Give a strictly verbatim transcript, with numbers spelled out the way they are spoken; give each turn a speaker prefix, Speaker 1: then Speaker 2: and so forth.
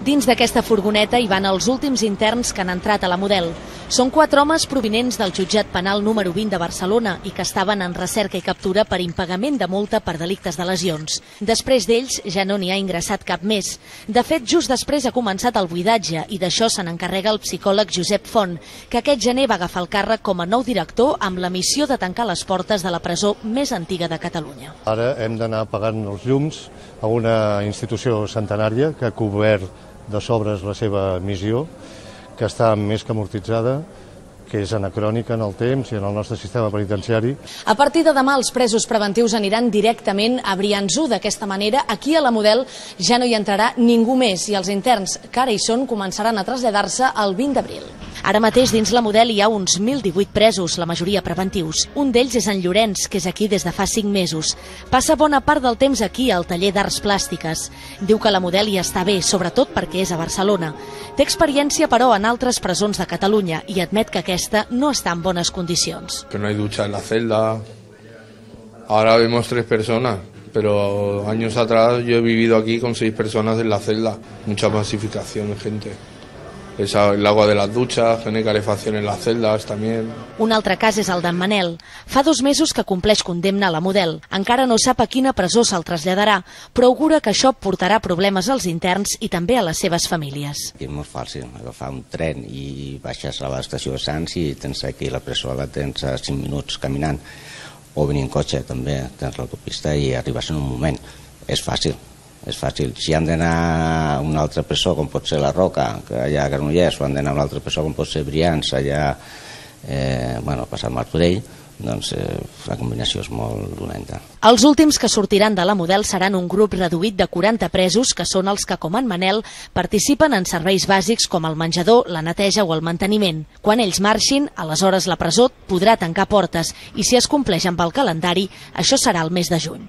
Speaker 1: Dins d'aquesta furgoneta hi van els últims interns que han entrat a la Model. Són quatre homes provinents del jutjat penal número vint de Barcelona i que estaven en recerca i captura per impagament de multa per delictes de lesions. Després d'ells ja no n'hi ha ingressat cap més. De fet, just després ha començat el buidatge i d'això se n'encarrega el psicòleg Josep Font, que aquest gener va agafar el càrrec com a nou director amb la missió de tancar les portes de la presó més antiga de Catalunya.
Speaker 2: Ara hem d'anar apagant els llums a una institució centenària que ha cobert de sobres la seva missió, que està més que amortitzada, que és anacrònica en el temps i en el nostre sistema penitenciari.
Speaker 1: A partir de demà els presos preventius aniran directament a Brians-u. D'aquesta manera, aquí a la Model ja no hi entrarà ningú més i els interns que ara hi són començaran a traslladar-se el vint d'abril. Ara mateix dins la Model hi ha uns mil divuit presos, la majoria preventius. Un d'ells és en Llorenç, que és aquí des de fa cinc mesos. Passa bona part del temps aquí al taller d'arts plàstiques. Diu que la Model hi està bé, sobretot perquè és a Barcelona. Té experiència, però, en altres presons de Catalunya i admet que aquesta no está en buenas condiciones.
Speaker 3: Que no hay ducha en la celda. Ahora vemos tres personas, pero años atrás yo he vivido aquí con seis personas en la celda. Mucha masificación de gente. El agua de las duchas, tiene calefacción en las celdas también.
Speaker 1: Un altre cas és el d'en Manel. Fa dos mesos que compleix condemna a la Model. Encara no sap a quina presó se'l traslladarà, però augura que això portarà problemes als interns i també a les seves famílies.
Speaker 4: És molt fàcil agafar un tren i baixes a l'estació de Sants i tens aquí la presó, la tens a cinc minuts caminant, o venir en cotxe també, tens l'autopista i arribes en un moment. És fàcil. És fàcil. Si han d'anar a una altra presó, com pot ser la Roca, que allà a Granollers, o han d'anar a una altra presó, com pot ser Brians, allà eh, bueno, passant Martorell, doncs eh, la combinació és molt dolenta.
Speaker 1: Els últims que sortiran de la Model seran un grup reduït de quaranta presos, que són els que, com en Manel, participen en serveis bàsics com el menjador, la neteja o el manteniment. Quan ells marxin, aleshores la presó podrà tancar portes i si es compleix amb el calendari, això serà el mes de juny.